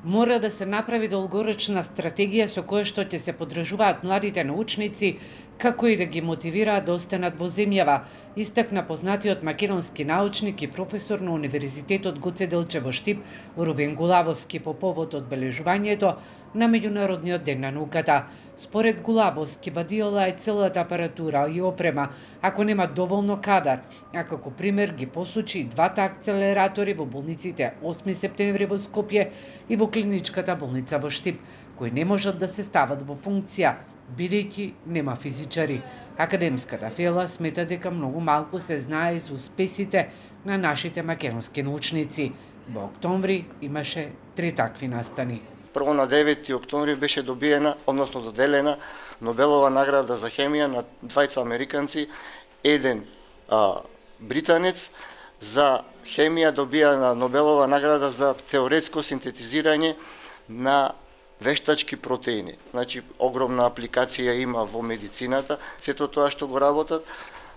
Мора да се направи долгорочна стратегија со која што ќе се поддржуваат младите научници, како и да ги мотивираат да останат во земјава, истакна познатиот македонски научник и професор на Универзитетот Гоце Делчев во Штип, Рубен Гулабовски, по повод одбележувањето на Меѓународниот ден на науката. Според Гулабовски, бадиола е целата апаратура и опрема, ако нема доволно кадар, а како пример ги посочи двата акцелератори во болниците 8 септември во Скопје и во клиничката болница во Штип, кои не можат да се стават во функција, бидејќи нема физичари. Академската фела смета дека многу малку се знае за успесите на нашите македонски научници. Во октомври имаше 3 такви настани. Прво на 9 октомври беше добиена, односно доделена Нобелова награда за хемија на двајца американци, еден британец. За хемија добија Нобелова награда за теоретско синтетизирање на вештачки протеини. Значи, огромна апликација има во медицината, сето тоа што го работат.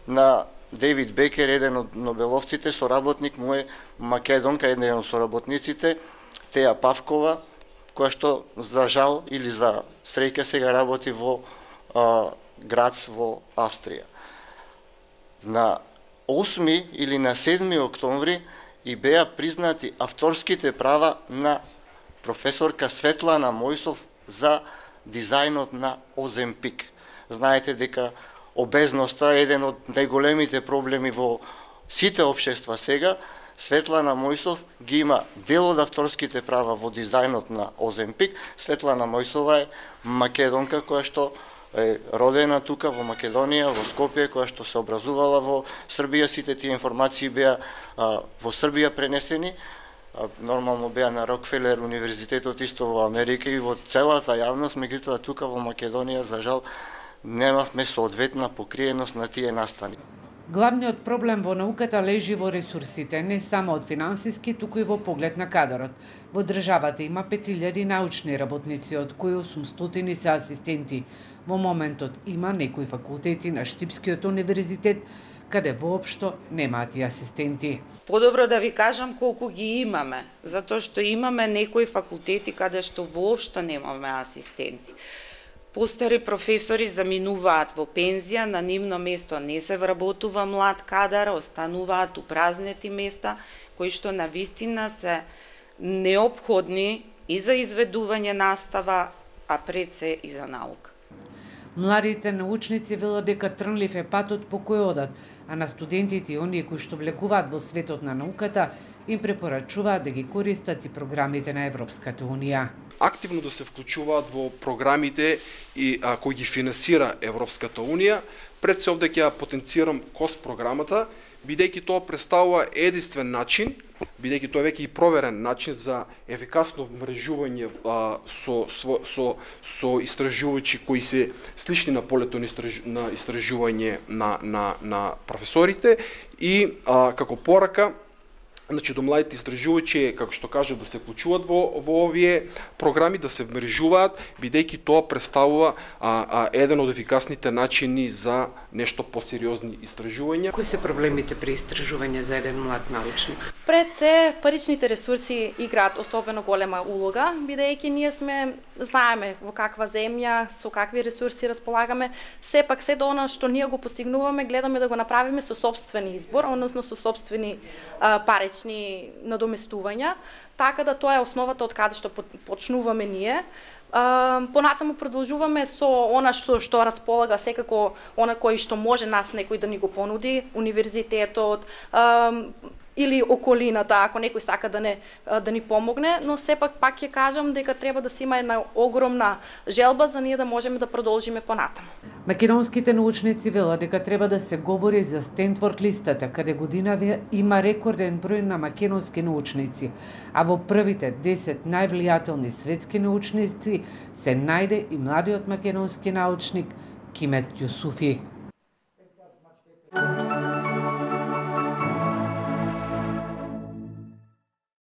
На Дейвид Бекер, еден од нобеловците, соработник му е македонка, еден од соработниците, Теја Павкова, која што за жал или за среќа сега работи во Грац во Австрија. На 8 или на 7 октомври и беа признати авторските права на професорка Светлана Мојсов за дизајнот на Оземпик. Знаете дека обезноста е еден од најголемите проблеми во сите општества сега. Светлана Мојсов ги има дел од авторските права во дизајнот на Оземпик. Светлана Мојсова е македонка која што е родена тука во Македонија, во Скопје, која што се образувала во Србија. Сите тие информации беа во Србија пренесени. Нормално беа на Рокфелер универзитетот исто во Америка и во целата јавност, меѓутоа тука во Македонија за жал немавме соодветна покриеност на тие настани. Главниот проблем во науката лежи во ресурсите, не само од финансиски, туку и во поглед на кадарот. Во државата има 5000 научни работници, од кои 800 се асистенти. Во моментот има некои факултети на Штипскиот универзитет каде воопшто немаат и асистенти. Подобро да ви кажам колку ги имаме, затоа што имаме некои факултети каде што воопшто немаме асистенти. Постари професори заминуваат во пензија, на нивно место не се вработува млад кадар, остануваат упразнети места, кои што навистина се неопходни и за изведување настава, а пред се и за наука. Младите научници велат дека трнлив е патот по кој одат, а на студентите и оние кои што влегуваат во светот на науката им препорачуваат да ги користат и програмите на Европската Унија. Активно да се вклучуваат во програмите и кои ги финансира Европската Унија. Пред се овде ќе потенцирам КОС програмата, бидејќи тоа представува единствен начин, бидејќи тоа е веќе и проверен начин за ефикасно мрежување со истражувачи кои се слични на полето на истражување на професорите и како порака, значи до младите истражувачи, како што кажа, да се вклучуваат во овие програми, да се мрежуваат, бидејќи тоа представува еден од ефикасните начини за нешто посериозни истражувања. Кои се проблемите при истражување за еден млад научник? Пред се, паричните ресурси играат особено голема улога, бидејќи ние знаеме во каква земја, со какви ресурси располагаме, сепак се до она што ние го постигнуваме, гледаме да го направиме со сопствени избор, односно со сопствени парични надоместувања, така да тоа е основата од каде што почнуваме ние. Понатаму продолжуваме со она што располага секако она кој што може нас некој да ни го понуди, универзитетот или околината, ако некој сака да ни помогне, но сепак пак ќе кажам дека треба да се има една огромна желба за ние да можеме да продолжиме понатаму. Македонските научници велат дека треба да се говори за Стенфорд листата, каде година има рекорден број на македонски научници, а во првите 10 највлијателни светски научници се најде и младиот македонски научник Кимет Јусуфи.